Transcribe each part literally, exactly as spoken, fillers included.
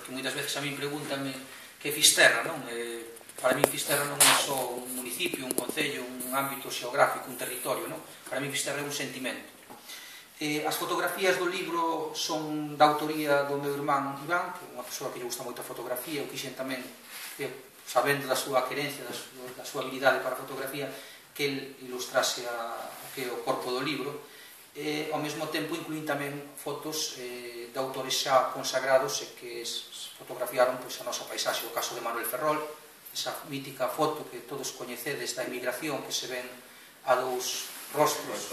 porque moitas veces a mí pregúntame que Fisterra, non? Eh, para mí Fisterra non é só un municipio, un concello, un ámbito xeográfico, un territorio, non? Para mí Fisterra é un sentimento. Eh, as fotografías do libro son da autoría do meu irmán Iván, que é unha persoa que lle gusta moito a fotografía, eu quixen tamén, eh, sabendo da súa querencia, da súa, da súa habilidade para a fotografía, que el ilustrase a, a que o corpo do libro. E, ao mesmo tempo, incluín tamén fotos eh, de autores xa consagrados e que fotografiaron pois, a nosa paisaxe, o caso de Manuel Ferrol, esa mítica foto que todos coñecedes da emigración, que se ven a dous rostros,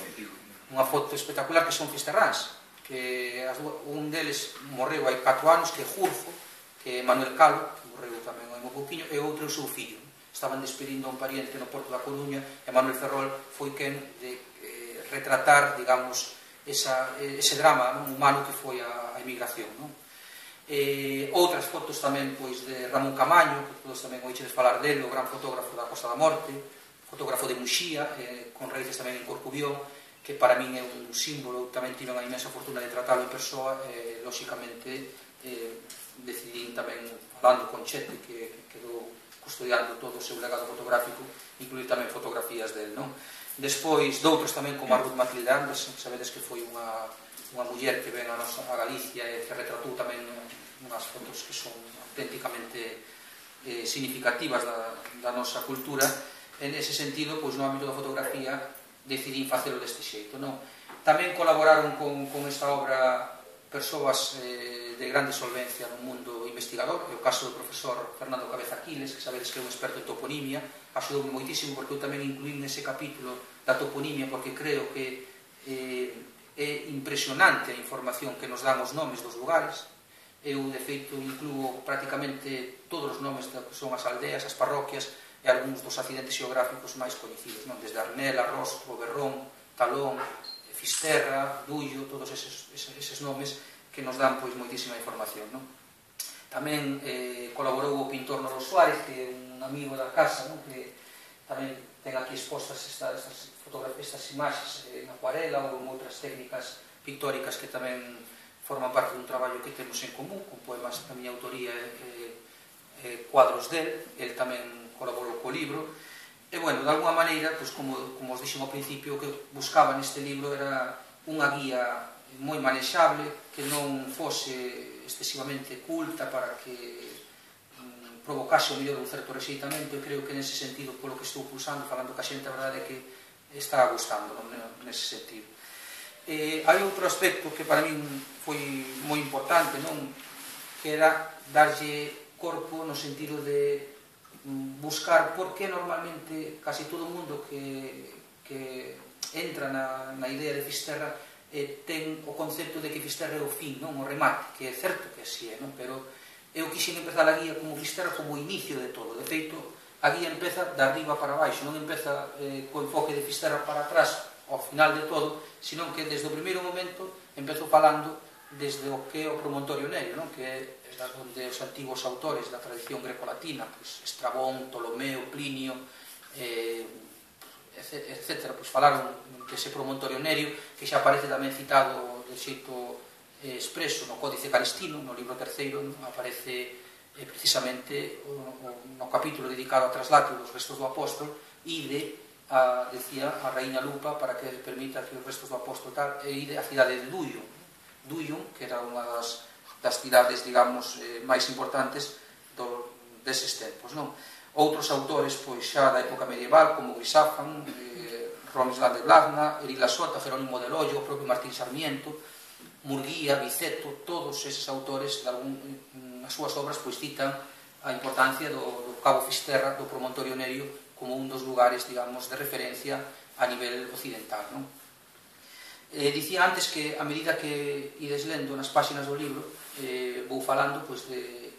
unha foto espectacular que son fisterráns, que un deles morreu hai catro anos, que é Jurfo, que é Manuel Calo, que morreu tamén hai un pouquiño, e outro é o seu fillo. Estaban despedindo a un pariente no Porto da Coruña e Manuel Ferrol foi quen de retratar, digamos, esa, ese drama non, humano que foi a, a emigración. Non? Eh, outras fotos tamén pois, de Ramón Camaño, que todos tamén oíxedes falar dele, o gran fotógrafo da Costa da Morte, fotógrafo de Muxía, eh, con raíces tamén en Corcubión, que para min é un símbolo, tamén tive unha inmensa fortuna de tratalo en persoa, e, lóxicamente, eh, decidí tamén, falando con Chete, que, que quedou custodiando todo o seu legado fotográfico, incluir tamén fotografías del, non? Despois, doutros tamén como a Ruth Matilde Andes, sabedes que foi unha, unha muller que ven a, nosa, a Galicia e que retratou tamén unhas fotos que son auténticamente eh, significativas da, da nosa cultura. En ese sentido, pois, no ámbito da fotografía, decidín facelo deste xeito. Non? Tamén colaboraron con, con esta obra persoas eh, de grande solvencia no mundo investigador, é o caso do profesor Fernando Cabeza Aquiles, que sabedes que é un experto en toponimia, axudoume moitísimo porque eu tamén incluín nese capítulo da toponimia porque creo que eh, é impresionante a información que nos dan os nomes dos lugares. Eu, de feito, incluo prácticamente todos os nomes que son as aldeas, as parroquias e algúns dos accidentes xeográficos máis coñecidos, non? Desde Arnela, Rostro, Berrón, Talón, Fisterra, Dullo, todos eses, eses, eses nomes que nos dan pois moitísima información, non? Tamén eh, colaborou o pintor Noro Suárez, que é un amigo da casa, non? Que tamén ten aquí expostas estas, estas fotografías, estas imaxes en acuarela ou en outras técnicas pictóricas que tamén forman parte dun traballo que temos en común, con poemas da miña autoría e eh, cuadros del. El tamén colaborou co libro. E, bueno, de alguma maneira, pues, como, como os dixen ao principio, o que buscaba neste libro era unha guía moi manexable, que non fose excesivamente culta para que mm, provocase o mellor un certo rexeitamento, e creo que nese sentido, polo que estou pulsando, falando ca xente, a verdade é que está gustando, non, nese sentido. Eh, hai outro aspecto que para min foi moi importante, non? Que era darlle corpo no sentido de buscar por que normalmente casi todo o mundo que, que entra na, na idea de Fisterra eh, ten o concepto de que Fisterra é o fin, non? O remate, que é certo que así é, non? Pero eu quixen empezar a guía como Fisterra como o inicio de todo. De feito, a guía empeza de arriba para baixo, non empeza eh, co enfoque de Fisterra para atrás ao final de todo, senón que desde o primeiro momento empezo falando desde o que é o promontorio Nerio, non? Que é onde os antigos autores da tradición greco-latina, pues, Estrabón, Ptolomeo, Plinio, eh, etcétera, pues, falaron que ese promontorio Nerio, que xa aparece tamén citado de xeito eh, expreso no Códice Calistino, no libro terceiro, ¿no? Aparece eh, precisamente o, o, no capítulo dedicado ao traslate dos restos do apóstol, ide a, decía, a Raíña Lupa para que permita que os restos do apóstol tal, e ide a cidade de Duyo, Duyo, que era unha das das cidades, digamos, eh, máis importantes do, deses tempos, non? Outros autores, pois, xa da época medieval, como Grisafan, eh, Romislan de Blagna, Erila Sota, Jerónimo del Hoyo, o propio Martín Sarmiento, Murguía, Viceto, todos eses autores, nas súas obras, pois, citan a importancia do, do Cabo Fisterra, do promontorio Nerio, como un dos lugares, digamos, de referencia a nivel occidental, non? Eh, dicía antes que, a medida que ides lendo nas páxinas do libro, eh, vou falando, pois, de,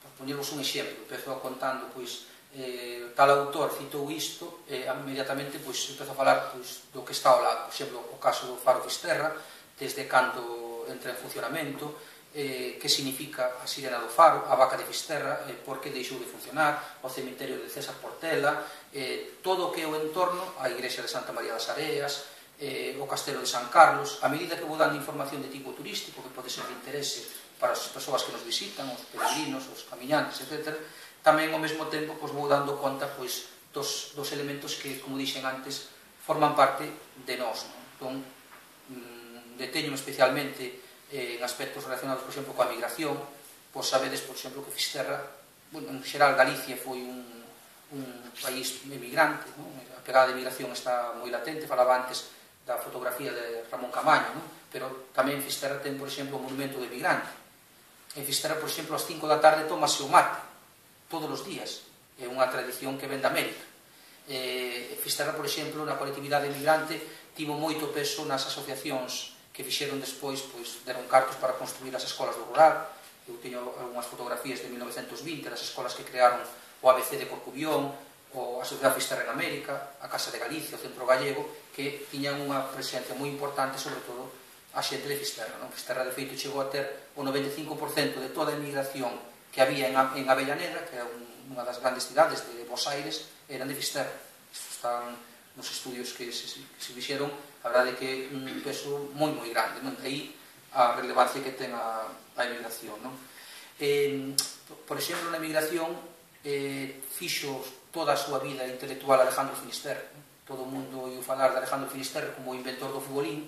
por poñervos un exemplo, empezo contando, pois, eh, tal autor citou isto, e eh, inmediatamente, pois, empezo a falar, pois, do que está ao lado. Por exemplo, o caso do Faro Fisterra, desde cando entra en funcionamento, eh, que significa a sirena do Faro, a vaca de Fisterra, eh, por que deixou de funcionar, o cemiterio de César Portela, eh, todo o que é o entorno, a igrexa de Santa María das Areas, eh, o castelo de San Carlos. A medida que vou dando información de tipo turístico, que pode ser de interese para as persoas que nos visitan, os peregrinos, os camiñantes, etcétera. Tamén ao mesmo tempo pois, vou dando conta pois, dos, dos elementos que, como dixen antes, forman parte de nós. Non? Entón, mmm, deteño especialmente eh, en aspectos relacionados, por exemplo, coa migración. Pois sabedes, por exemplo, que Fisterra, bueno, en xeral Galicia foi un, un país emigrante, non? A pegada de migración está moi latente, falaba antes da fotografía de Ramón Camaño, non? Pero tamén Fisterra ten, por exemplo, o monumento de migrante. En Fisterra, por exemplo, ás cinco da tarde tomase o mate, todos os días. É unha tradición que ven da América. Eh, Fisterra, por exemplo, na colectividade emigrante, tivo moito peso nas asociacións que fixeron despois, pois, deron cartos para construir as escolas do rural. Eu teño algunhas fotografías de mil novecentos vinte das escolas que crearon o A B C de Corcubión, o a Sociedade Fisterra en América, a Casa de Galicia, o Centro Gallego, que tiñan unha presencia moi importante, sobre todo, a xente de Fisterra. Non? Fisterra, de feito, chegou a ter o noventa e cinco por cento de toda a emigración que había en, en Avellaneda, que é unha das grandes cidades de Bos Aires, eran de Fisterra. Están nos estudios que se, que se fixeron, a verdade que un peso moi, moi grande. Non? De aí a relevancia que ten a, a emigración. Non? Eh, por exemplo, na emigración eh, fixo toda a súa vida intelectual Alejandro Finisterre. Todo o mundo iu falar de Alejandro Finisterre como o inventor do futbolín,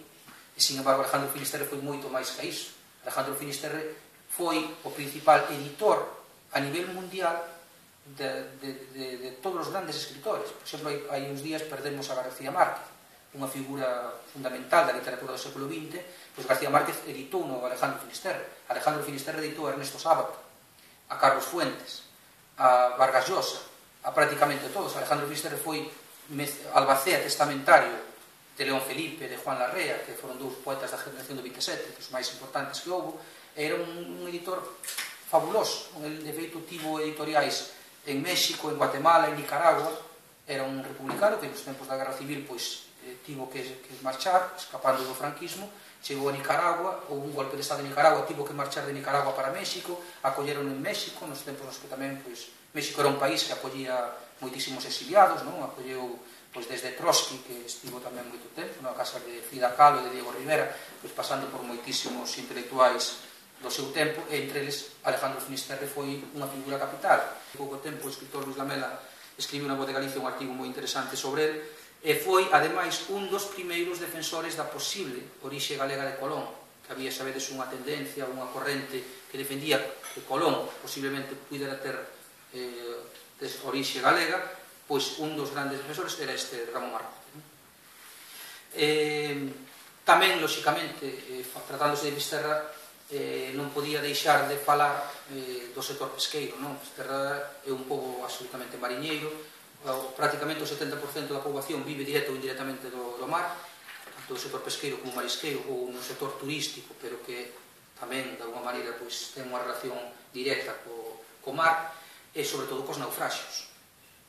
e, sin embargo, Alejandro Finisterre foi moito máis que iso. Alejandro Finisterre foi o principal editor a nivel mundial de, de, de, de todos os grandes escritores. Por exemplo, hai, hai uns días perdemos a García Márquez, unha figura fundamental da literatura do século vinte, pois García Márquez editou no Alejandro Finisterre. Alejandro Finisterre editou a Ernesto Sábato, a Carlos Fuentes, a Vargas Llosa, a prácticamente todos. Alejandro Finisterre foi albacea testamentario de León Felipe, de Juan Larrea, que foron dous poetas da generación do vinte e sete, os máis importantes que houve. Era un, un editor fabuloso. El, de feito, tivo editoriais en México, en Guatemala, en Nicaragua. Era un republicano que nos tempos da Guerra Civil pois, eh, tivo que, que marchar, escapando do franquismo. Chegou a Nicaragua, houve un golpe de estado en Nicaragua, tivo que marchar de Nicaragua para México, acolleron en México, nos tempos nos que tamén, pois, México era un país que acollía moitísimos exiliados, non? Acolleu pois, desde Trotsky, que estivo tamén moito tempo, na casa de Frida Kahlo e de Diego Rivera, pois, pasando por moitísimos intelectuais do seu tempo, e entre eles Alejandro Finisterre foi unha figura capital. En pouco tempo o escritor Luis Lamela escribiu na Voz de Galicia un artigo moi interesante sobre ele, e foi, ademais, un dos primeiros defensores da posible orixe galega de Colón, que había, sabedes, unha tendencia, unha corrente que defendía que Colón posiblemente pudera ter eh, orixe galega, pois un dos grandes defensores era este Ramón Arrote. Eh, tamén, lóxicamente, eh, tratándose de Fisterra, eh, non podía deixar de falar eh, do sector pesqueiro. Non? Fisterra é un pobo absolutamente mariñeiro, prácticamente o setenta por cento da poboación vive directo ou indirectamente do, do mar, tanto do sector pesqueiro como marisqueiro, ou no sector turístico, pero que tamén, de alguma maneira, pois, ten unha relación directa co, co mar, e sobre todo cos naufraxios.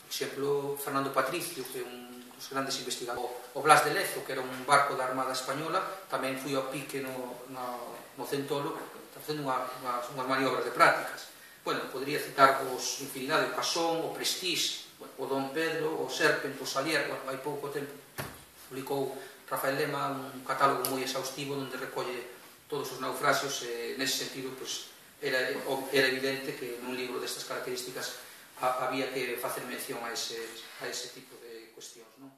Por exemplo, Fernando Patricio, que é un dos grandes investigadores, o Blas de Lezo, que era un barco da Armada Española, tamén foi ao pique no, no, no Centolo, facendo unha, unha, unhas maniobras de prácticas. Bueno, podría citar vos infinidade, o Casón, o Prestige, o Dom Pedro, o Serpent, o Salier. Bueno, hai pouco tempo publicou Rafael Lema un catálogo moi exhaustivo onde recolle todos os naufraxios, e nese sentido, pues, era, era evidente que nun libro destas características había que facer mención a ese, a ese tipo de cuestións, non?